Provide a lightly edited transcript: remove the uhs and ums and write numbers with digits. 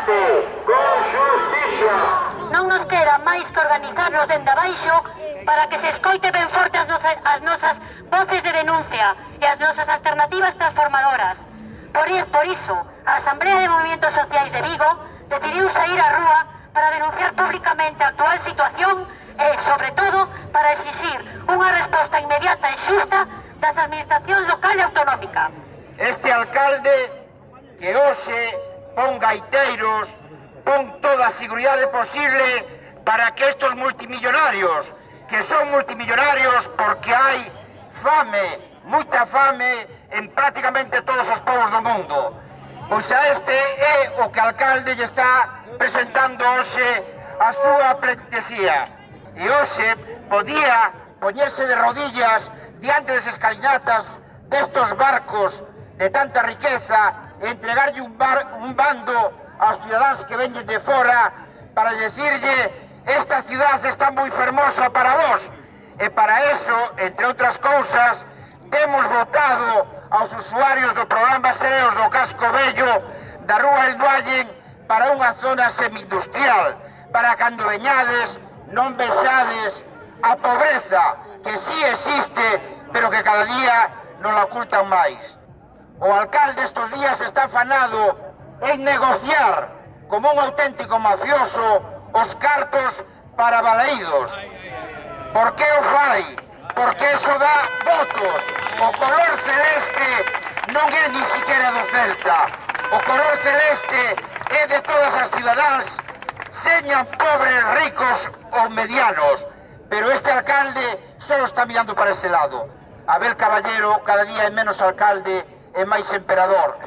combate con xusticia. Non nos queda máis que organizarnos dende abaixo para que se escoite ben forte as nosas voces de denuncia e as nosas alternativas transformadoras. Por iso, a Asamblea de Movimientos Sociais de Vigo decidiu sair á rúa para denunciar públicamente a actual situación e, sobre todo, para exixir unha resposta inmediata e xusta das administracións local e autonómica. Este alcalde que hoxe pon gaiteiros, pon toda a seguridade posible para que estos multimillonarios, que son multimillonarios porque hai fame, moita fame en prácticamente todos os povos do mundo. Pois a este é o que o alcalde lle está presentando hoxe a súa plentesía. E hoxe podía poñerse de rodillas diante das escalinatas destos barcos de tanta riqueza e entregarlle un bando aos cidadáns que veñen de fora para decirlle: esta cidade está moi fermosa para vos. E para eso, entre outras cousas, temos votado aos usuarios do programa Sereos do Casco Vello da Rúa Elduallen para unha zona semi-industrial, para cando veñades non vexades a pobreza que sí existe, pero que cada día non la ocultan máis. O alcalde estes días está afanado en negociar como un auténtico mafioso os cartos para balaídos. Por que o fai? Porque eso dá votos. O color celeste non é ni siquiera do Celta. O color celeste é de todas as cidadáns, señan pobres, ricos ou medianos. Pero este alcalde só está mirando para ese lado. Abel Caballero cada día é menos alcalde e máis emperador.